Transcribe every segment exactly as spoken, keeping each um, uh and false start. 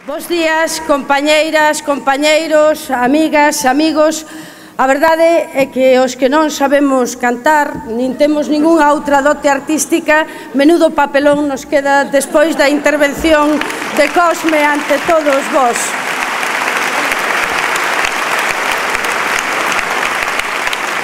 Bos días, compañeiras, compañeiros, amigas, amigos. A verdade é que os que non sabemos cantar, nin temos ningunha outra dote artística, menudo papelón nos queda despois da intervención de Cosme ante todos vós.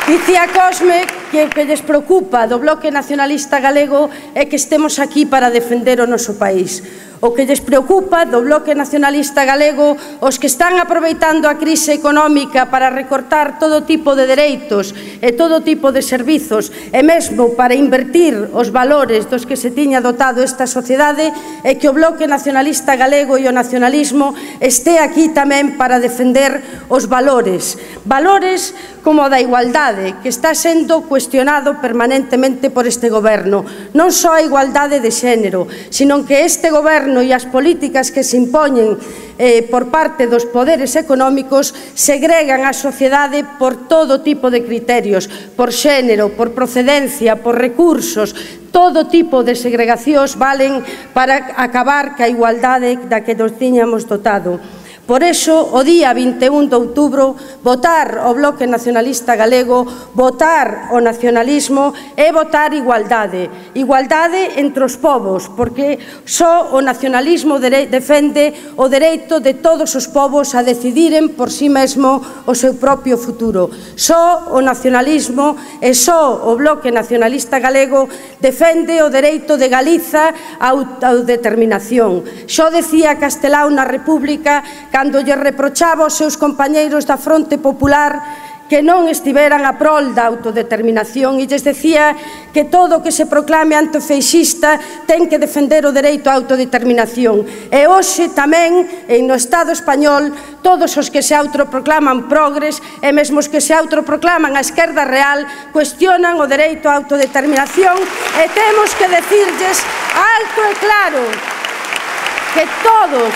Dicía Cosme que o que lles preocupa do Bloque Nacionalista Galego é que estemos aquí para defender o noso país. O que lles preocupa do Bloque Nacionalista Galego os que están aproveitando a crise económica para recortar todo tipo de dereitos e todo tipo de servizos e mesmo para invertir os valores dos que se tiña dotado esta sociedade é que o Bloque Nacionalista Galego e o nacionalismo este aquí tamén para defender os valores. Valores como o da igualdade, que está sendo cuestionado permanentemente por este goberno. Non só a igualdade de xénero, sino que este goberno e as políticas que se impoñen eh, por parte dos poderes económicos segregan a sociedade por todo tipo de criterios, por xénero, por procedencia, por recursos. Todo tipo de segregacións valen para acabar ca igualdade da que nos tiñamos dotado. Por iso, o día vinte e un de outubro, votar o Bloque Nacionalista Galego, votar o nacionalismo é votar igualdade. Igualdade entre os povos, porque só o nacionalismo defende o dereito de todos os povos a decidiren por si mesmo o seu propio futuro. Só o nacionalismo e só o Bloque Nacionalista Galego defende o dereito de Galiza á autodeterminación. Xo decía Castelao na República cando lle reprochaba aos seus compañeiros da Fronte Popular que non estiveran a prol da autodeterminación e lles decía que todo o que se proclame antifeixista ten que defender o dereito á autodeterminación. E hoxe tamén, no Estado español, todos os que se autoproclaman progres e mesmo os que se autoproclaman a esquerda real cuestionan o dereito á autodeterminación e temos que decirlles alto e claro que todos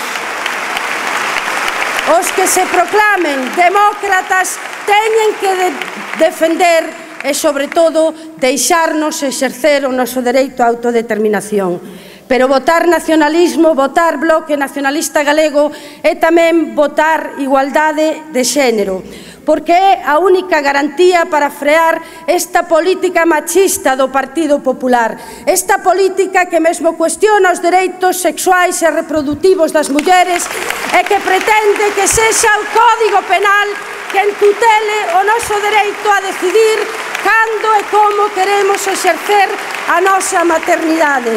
os que se proclamen demócratas teñen que de defender e, sobre todo, deixarnos exercer o noso dereito á autodeterminación. Pero votar nacionalismo, votar Bloque Nacionalista Galego é tamén votar igualdade de xénero, porque é a única garantía para frear esta política machista do Partido Popular, esta política que mesmo cuestiona os dereitos sexuais e reproductivos das mulleres e que pretende que sexa o Código Penal que tutele o noso dereito a decidir cando e como queremos exercer a nosa maternidade.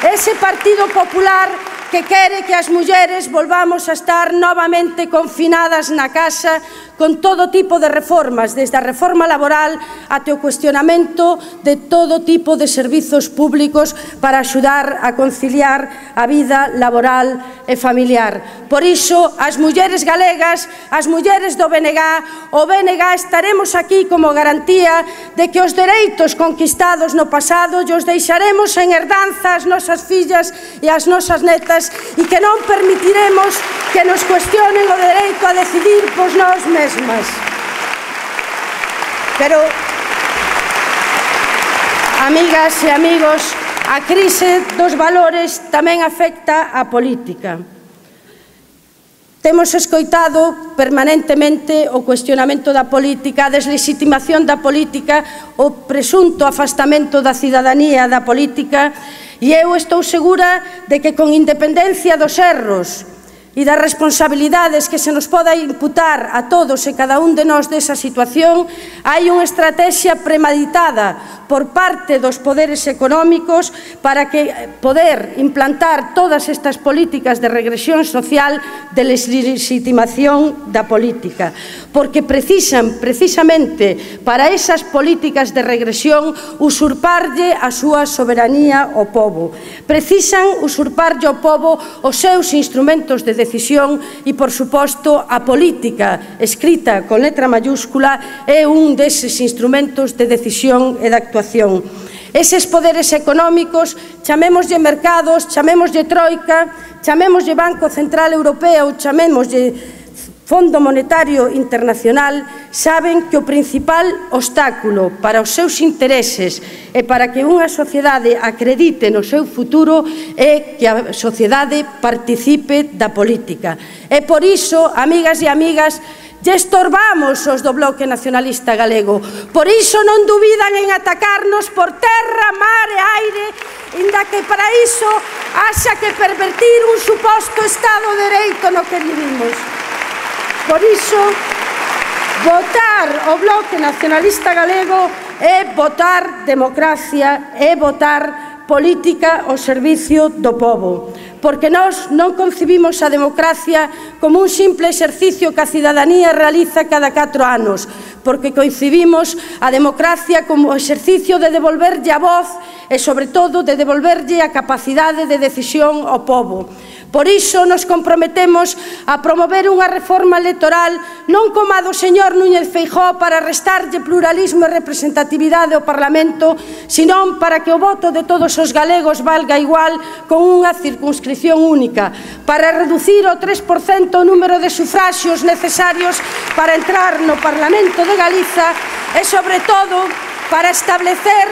Ese Partido Popular que quere que as mulleres volvamos a estar novamente confinadas na casa con todo tipo de reformas, desde a reforma laboral até o cuestionamento de todo tipo de servizos públicos para axudar a conciliar a vida laboral e familiar. Por iso, as mulleres galegas, as mulleres do B N G, o B N G estaremos aquí como garantía de que os dereitos conquistados no pasado os deixaremos en herdanza ás nosas fillas e ás nosas netas e que non permitiremos que nos cuestionen o dereito a decidir por nós mesmos. Pero, amigas e amigos, a crise dos valores tamén afecta a política. Temos escoitado permanentemente o cuestionamento da política, a deslegitimación da política, o presunto afastamento da cidadanía da política, e eu estou segura de que con independencia dos erros e das responsabilidades que se nos poda imputar a todos e cada un de nós desa situación, hai unha estrategia premeditada por parte dos poderes económicos para que poder implantar todas estas políticas de regresión social, de deslegitimación da política, porque precisan precisamente para esas políticas de regresión usurparlle a súa soberanía ao pobo, precisan usurparlle ao pobo os seus instrumentos de decisión e, por suposto, a política escrita con letra mayúscula é un deses instrumentos de decisión e de actuación. Eses poderes económicos, chamémoslle mercados, chamémoslle troika, chamémoslle Banco Central Europeo, chamémoslle Fondo Monetario Internacional saben que o principal obstáculo para os seus intereses e para que unha sociedade acredite no seu futuro é que a sociedade participe da política. E por iso, amigas e amigas, lle estorbamos os do Bloque Nacionalista Galego. Por iso non dubidan en atacarnos por terra, mar e aire, inda que para iso haxa que pervertir un suposto Estado de Dereito no que vivimos. Por iso, votar o Bloque Nacionalista Galego é votar democracia, é votar política ao servicio do pobo. Porque nós non concibimos a democracia como un simple exercicio que a cidadanía realiza cada catro anos, porque concibimos a democracia como o exercicio de devolverlle a voz e, sobre todo, de devolverlle a capacidade de decisión ao pobo. Por iso nos comprometemos a promover unha reforma electoral non como a do señor Núñez Feijóo para restarlle pluralismo e representatividade ao Parlamento, senón para que o voto de todos os galegos valga igual con unha circunscripción única, para reducir o tres por cento o número de sufraxios necesarios para entrar no Parlamento de Galiza e, sobre todo, para establecer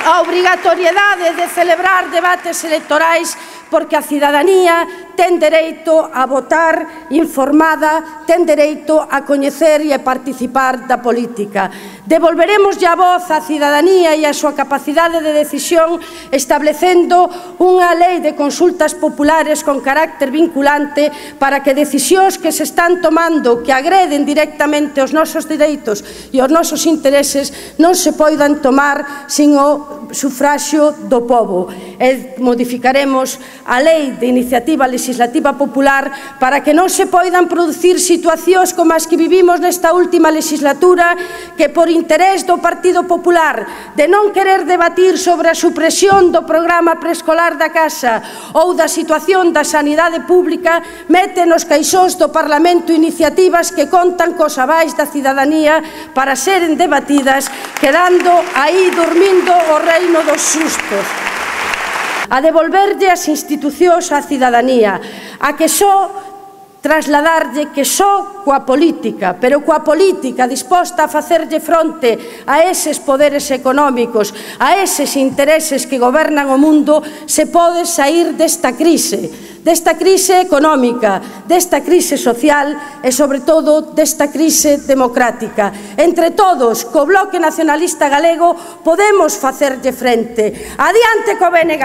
a obrigatoriedade de celebrar debates electorais, porque a cidadanía ten dereito a votar informada, ten dereito a coñecer e a participar da política. Devolveremos a voz á cidadanía e a súa capacidade de decisión establecendo unha lei de consultas populares con carácter vinculante para que decisións que se están tomando que agreden directamente os nosos dereitos e os nosos intereses non se poidan tomar sin o sufraxio do pobo. E modificaremos a lei de iniciativa legislativa popular para que non se poidan producir situacións como as que vivimos nesta última legislatura, que por interés do Partido Popular de non querer debatir sobre a supresión do programa preescolar da casa ou da situación da sanidade pública, mete nos caixóns do Parlamento iniciativas que contan cos avais da cidadanía para seren debatidas, quedando aí dormindo o reino dos sustos. A devolverlle as institucións á cidadanía, a que só trasladarlle que só coa política, pero coa política disposta a facerlle fronte a eses poderes económicos, a eses intereses que gobernan o mundo, se pode saír desta crise, desta crise económica, desta crise social e, sobre todo, desta crise democrática. Entre todos, co Bloque Nacionalista Galego, podemos facerlle frente. Adiante co B N G.